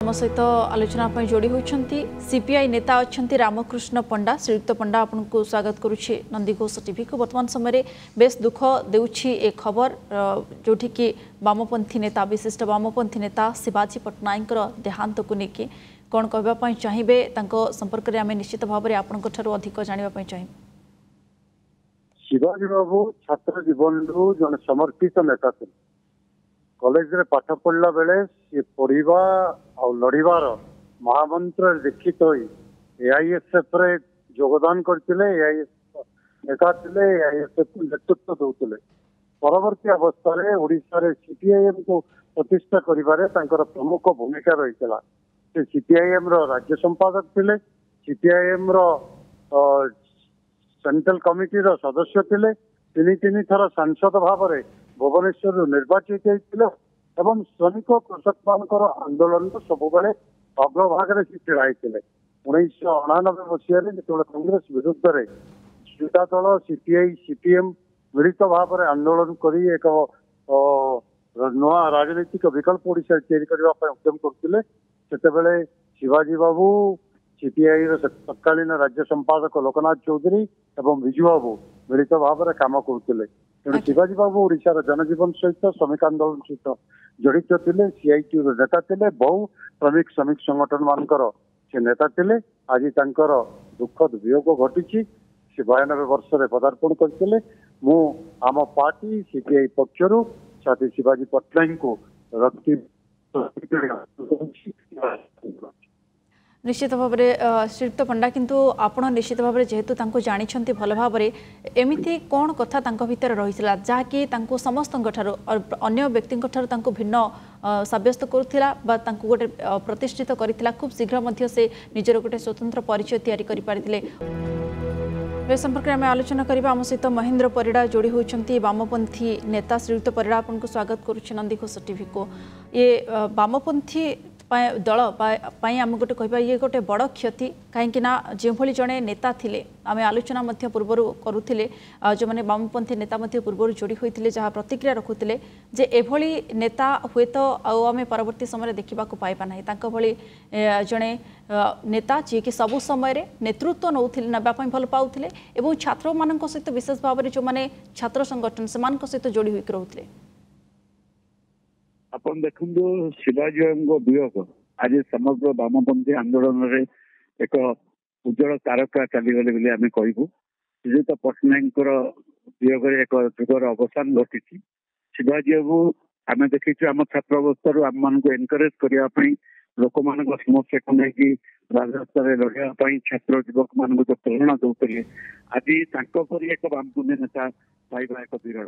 ଆମ ସହିତ ଆଲୋଚନା ପାଇଁ ଯୋଡ଼ି ହୋଇଛନ୍ତି ସିପିଆଇ ନେତା ଅଛନ୍ତି ରାମକୃଷ୍ଣ ପଣ୍ଡା। ଶ୍ରୀଯୁକ୍ତ ପଣ୍ଡା, ଆପଣଙ୍କୁ ସ୍ୱାଗତ କରୁଛି ନନ୍ଦିଘୋଷ ଟିଭିକୁ। ବର୍ତ୍ତମାନ ସମୟରେ ବେଶ ଦୁଃଖ ଦେଉଛି ଏ ଖବର, ଯେଉଁଠିକି ବାମପନ୍ଥୀ ନେତା, ବିଶିଷ୍ଟ ବାମପନ୍ଥୀ ନେତା ଶିବାଜୀ ପଟ୍ଟନାୟକଙ୍କର ଦେହାନ୍ତକୁ ନେଇକି କ'ଣ କହିବା ପାଇଁ ଚାହିଁବେ? ତାଙ୍କ ସମ୍ପର୍କରେ ଆମେ ନିଶ୍ଚିତ ଭାବରେ ଆପଣଙ୍କ ଠାରୁ ଅଧିକ ଜାଣିବା ପାଇଁ ଚାହିଁବୁ। ଶିବାଜୀ ବାବୁ ଛାତ୍ର ଜୀବନରୁ ଜଣେ ସମର୍ପିତ ନେତା ଥିଲେ। କଲେଜରେ ପାଠ ପଢିଲା ବେଳେ ସିଏ ପଢିବା ଆଉ ଲଢିବାର ମହାମନ୍ତ୍ରରେ ଦୀକ୍ଷିତ ହୋଇ ଏଆଇଏସ୍ଏଫ୍ ରେ ଯୋଗଦାନ କରିଥିଲେ, ଏଆଇଏସ୍ ନେତା ଥିଲେ, ଏଆଇଏସ୍ଏଫ୍ କୁ ନେତୃତ୍ୱ ଦଉଥିଲେ। ପରବର୍ତ୍ତୀ ଅବସ୍ଥାରେ ଓଡ଼ିଶାରେ ସିପିଆଇଏମ୍ କୁ ପ୍ରତିଷ୍ଠା କରିବାରେ ତାଙ୍କର ପ୍ରମୁଖ ଭୂମିକା ରହିଥିଲା। ସେ ସିପିଆଇଏମ୍ ର ରାଜ୍ୟ ସମ୍ପାଦକ ଥିଲେ, ସିପିଆଇଏମ୍ ର ସେଣ୍ଟ୍ରାଲ କମିଟିର ସଦସ୍ୟ ଥିଲେ, ତିନି ତିନି ଥର ସାଂସଦ ଭାବରେ ଭୁବନେଶ୍ୱରରୁ ନିର୍ବାଚିତ ହେଇଥିଲେ ଏବଂ ଶ୍ରମିକ କୃଷକମାନଙ୍କର ଆନ୍ଦୋଳନର ସବୁବେଳେ ଅଗ୍ରଭାଗରେ ସେ ଛିଡ଼ା ହେଇଥିଲେ। 1989 ମସିହାରେ ଯେତେବେଳେ କଂଗ୍ରେସ ବିରୁଦ୍ଧରେ ଜନତା ଦଳ, ସିପିଆଇ, ସିପିଏମ୍ ମିଳିତ ଭାବରେ ଆନ୍ଦୋଳନ କରି ଏକ ନୂଆ ରାଜନୈତିକ ବିକଳ୍ପ ଓଡ଼ିଶାରେ ତିଆରି କରିବା ପାଇଁ ଉଦ୍ୟମ କରୁଥିଲେ, ସେତେବେଳେ ଶିବାଜୀ ବାବୁ, ସିପିଆଇ ର ତତ୍କାଳୀନ ରାଜ୍ୟ ସମ୍ପାଦକ ଲୋକନାଥ ଚୌଧୁରୀ ଏବଂ ବିଜୁ ବାବୁ ମିଳିତ ଭାବରେ କାମ କରୁଥିଲେ। ତେଣୁ ଶିବାଜୀ ବାବୁ ଓଡ଼ିଶାର ଜନଜୀବନ ସହିତ, ଶ୍ରମିକ ଆନ୍ଦୋଳନ ସହିତ ଜଡିତ ଥିଲେ, ସିଆଇଟି ର ନେତା ଥିଲେ, ବହୁ ଶ୍ରମିକ ଶ୍ରମିକ ସଂଗଠନ ମାନଙ୍କର ସେ ନେତା ଥିଲେ। ଆଜି ତାଙ୍କର ଦୁଃଖଦ ବିୟୋଗ ଘଟିଛି। ସେ 92 ବର୍ଷରେ ପଦାର୍ପଣ କରିଥିଲେ। ମୁଁ ଆମ ପାର୍ଟି ସିପିଆଇ ପକ୍ଷରୁ ସାଥୀ ଶିବାଜୀ ପଟ୍ଟନାୟକଙ୍କୁ ରକ୍ତି ନିଶ୍ଚିତ ଭାବରେ ଶ୍ରୀଯୁକ୍ତ ପଣ୍ଡା, କିନ୍ତୁ ଆପଣ ନିଶ୍ଚିତ ଭାବରେ ଯେହେତୁ ତାଙ୍କୁ ଜାଣିଛନ୍ତି ଭଲ ଭାବରେ, ଏମିତି କ'ଣ କଥା ତାଙ୍କ ଭିତରେ ରହିଥିଲା ଯାହାକି ତାଙ୍କୁ ସମସ୍ତଙ୍କ ଠାରୁ, ଅନ୍ୟ ବ୍ୟକ୍ତିଙ୍କ ଠାରୁ ତାଙ୍କୁ ଭିନ୍ନ ସାବ୍ୟସ୍ତ କରୁଥିଲା ବା ତାଙ୍କୁ ଗୋଟେ ପ୍ରତିଷ୍ଠିତ କରିଥିଲା? ଖୁବ୍ ଶୀଘ୍ର ମଧ୍ୟ ସେ ନିଜର ଗୋଟେ ସ୍ୱତନ୍ତ୍ର ପରିଚୟ ତିଆରି କରିପାରିଥିଲେ। ଏ ସମ୍ପର୍କରେ ଆମେ ଆଲୋଚନା କରିବା। ଆମ ସହିତ ମହେନ୍ଦ୍ର ପରିଡ଼ା ଯୋଡ଼ି ହେଉଛନ୍ତି, ବାମପନ୍ଥୀ ନେତା। ଶ୍ରୀଯୁକ୍ତ ପରିଡ଼ା, ଆପଣଙ୍କୁ ସ୍ୱାଗତ କରୁଛି ନନ୍ଦିଘୋଷ ଟିଭିକୁ। ଇଏ ବାମପନ୍ଥୀ ଦଳ ପାଇଁ ଆମେ ଗୋଟେ କହିବା ଇଏ ଗୋଟେ ବଡ଼ କ୍ଷତି, କାହିଁକି ନା ଯେଉଁଭଳି ଜଣେ ନେତା ଥିଲେ, ଆମେ ଆଲୋଚନା ମଧ୍ୟ ପୂର୍ବରୁ କରୁଥିଲେ, ଯେଉଁମାନେ ବାମପନ୍ଥୀ ନେତା ମଧ୍ୟ ପୂର୍ବରୁ ଯୋଡ଼ି ହୋଇଥିଲେ, ଯାହା ପ୍ରତିକ୍ରିୟା ରଖୁଥିଲେ ଯେ ଏଭଳି ନେତା ହୁଏତ ଆଉ ଆମେ ପରବର୍ତ୍ତୀ ସମୟରେ ଦେଖିବାକୁ ପାଇବା ନାହିଁ। ତାଙ୍କ ଭଳି ଜଣେ ନେତା ଯିଏକି ସବୁ ସମୟରେ ନେତୃତ୍ୱ ନେଉଥିଲେ, ନେବା ପାଇଁ ଭଲ ପାଉଥିଲେ ଏବଂ ଛାତ୍ରମାନଙ୍କ ସହିତ, ବିଶେଷ ଭାବରେ ଯେଉଁମାନେ ଛାତ୍ର ସଂଗଠନ ସେମାନଙ୍କ ସହିତ ଯୋଡ଼ି ହୋଇକି ରହୁଥିଲେ। ଆପଣ ଦେଖନ୍ତୁ, ଶିବାଜୀ ବାବୁଙ୍କ ବିୟୋଗ ଆଜି ସମଗ୍ର ବାମପନ୍ଥୀ ଆନ୍ଦୋଳନରେ ଏକ ଉଜ୍ଜଳ ତାରକା ଚାଲିଗଲେ ବୋଲି ଆମେ କହିବୁ। ଶ୍ରୀଯୁକ୍ତ ପଟ୍ଟନାୟକଙ୍କର ବିୟୋଗରେ ଏକ ଯୁଗର ଅବସାନ ଘଟିଛି। ଶିବାଜୀ ବାବୁ ଆମେ ଦେଖିଛୁ ଆମ ଛାତ୍ର ଅବସ୍ଥାରୁ ଆମମାନଙ୍କୁ ଏନକରେଜ କରିବା ପାଇଁ, ଲୋକମାନଙ୍କ ସମସ୍ୟାକୁ ନେଇକି ରାଜରାସ୍ତାରେ ଲଢିବା ପାଇଁ ଛାତ୍ର ଯୁବକ ମାନଙ୍କୁ ଯୋଉ ପ୍ରେରଣା ଦଉଥିଲେ, ଆଜି ତାଙ୍କ ପରି ଏକ ବାମପନ୍ଥୀ ନେତା ପାଇବା ଏକ ବିରଳ।